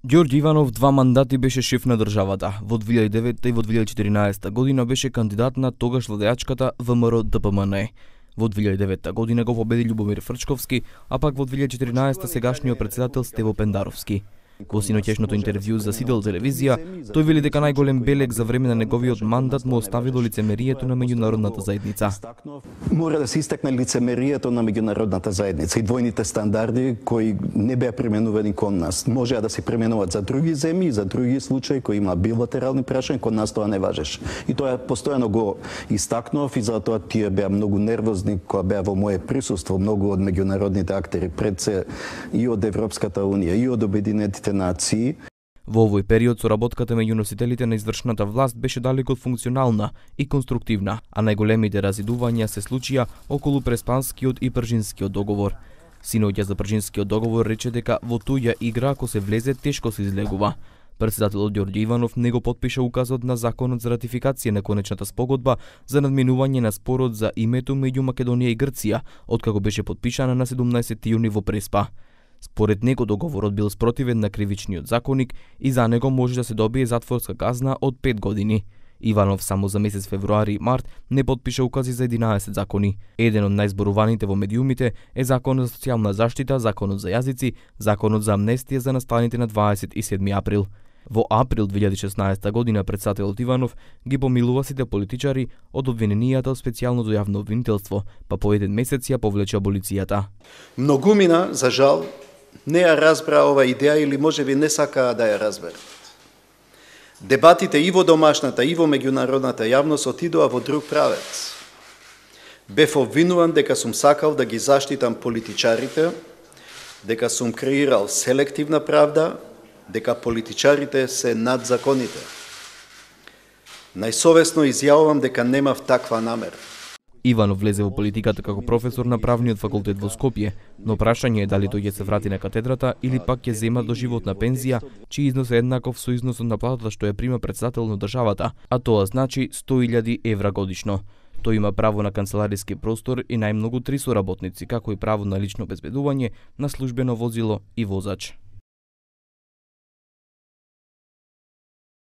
Ѓорѓе Иванов 2 мандати беше шеф на државата. Во 2009 и во 2014 година беше кандидат на тогаш владеачката ВМРО ДПМН. Во 2009 година го победи Љубомир Фрчковски, а пак во 2014 сегашниот председател Стево Пендаровски. Во синоќешното интервју за Сидел телевизија, тој вели дека најголем белег за време на неговиот мандат му оставило лицемерието на меѓународната заедница. Мора да се истакне лицемерието на меѓународната заедница и двојните стандарди кои не беа применувани кон нас. Можеа да се применуваат за други земји, за други случаи кои има билатерални прашања, кон нас тоа не важеше. И тоа постојано го истакнував и затоа тие беа многу нервозни кога беа во мое присуство, многу од меѓународните актери, пред се и од Европската унија, и од Обединетите нации. Во овој период соработката меѓу носителите на извршната власт беше далеку од функционална и конструктивна, а најголемите разидувања се случија околу Преспанскиот и Пржинскиот договор. Синоќа за Пржинскиот договор рече дека во туѓа игра ако се влезе тешко се излегува. Председателот Ѓорѓе Иванов не го потпиша указот на законот за ратификација на конечната спогодба за надминување на спорот за името меѓу Македонија и Грција, откако беше потпишана на 17 јуни во Преспа. Според него договорот бил спротивен на кривичниот законник и за него може да се добие затворска казна од 5 години. Иванов само за месец февруари и март не потпиша укази за 11 закони. Еден од најзборуваните во медиумите е Законот за социјална заштита, Законот за јазици, Законот за амнестија за настаните на 27 април. Во април 2016 година председателот Иванов ги помилува сите политичари од обвиненијата од специјалното јавно обвинителство, па по еден месец ја повлече аболицијата. Многумина, за жал, не ја разбра ова идеја или можеби не сакаа да ја разберат. Дебатите и во домашната и во меѓународната јавност отидоа во друг правец. Бев обвинуван дека сум сакал да ги заштитам политичарите, дека сум креирал селективна правда, дека политичарите се над законите. Најсовесно изјавувам дека немав таква намера. Иванов влезе во политиката како професор на правниот факултет во Скопје, но прашање е дали тој ќе се врати на катедрата или пак ќе зема доживотна пензија, чиј износ е еднаков со износот на платата што ја прима председател на државата, а тоа значи 100.000 евра годишно. Тој има право на канцелариски простор и најмногу 3 соработници, како и право на лично обезбедување, на службено возило и возач.